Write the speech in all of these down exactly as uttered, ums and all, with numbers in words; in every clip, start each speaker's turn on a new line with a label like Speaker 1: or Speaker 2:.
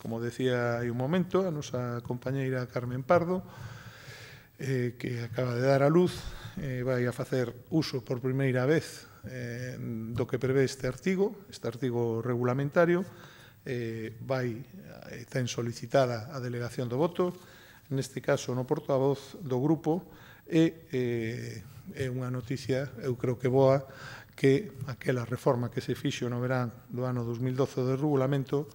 Speaker 1: como decía hai un momento, a nosa compañeira Carmen Pardo, eh, que acaba de dar a luz, eh, vai a facer uso por primeira vez eh, do que prevé este artigo, este artigo regulamentario, eh, vai, eh, ten solicitada a delegación do voto, neste caso no portavoz do grupo, e eh, é unha noticia, eu creo que boa, que aquela reforma que se fixo no verán do ano dos mil doce do regulamento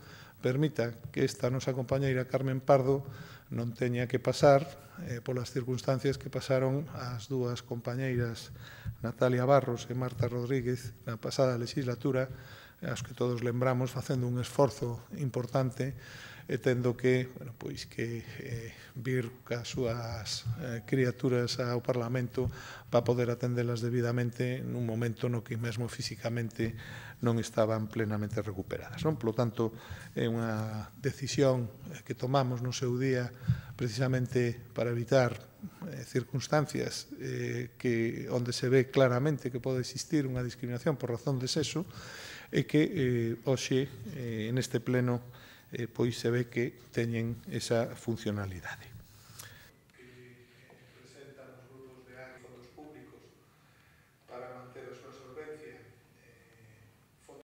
Speaker 1: permita que esta nosa compañeira Carmen Pardo non teña que pasar eh, polas circunstancias que pasaron as dúas compañeiras Natalia Barros e Marta Rodríguez na pasada legislatura, as que todos lembramos facendo un esforzo importante e tendo que, bueno, pois que eh, vir cas súas eh, criaturas ao Parlamento para poder atendelas debidamente nun momento no que mesmo físicamente non estaban plenamente recuperadas. Non? Por lo tanto, é unha decisión que tomamos no seu día precisamente para evitar eh, circunstancias eh, que onde se ve claramente que pode existir unha discriminación por razón de sexo e que eh, hoxe, eh, neste pleno, eh, pois se ve que teñen esa funcionalidade.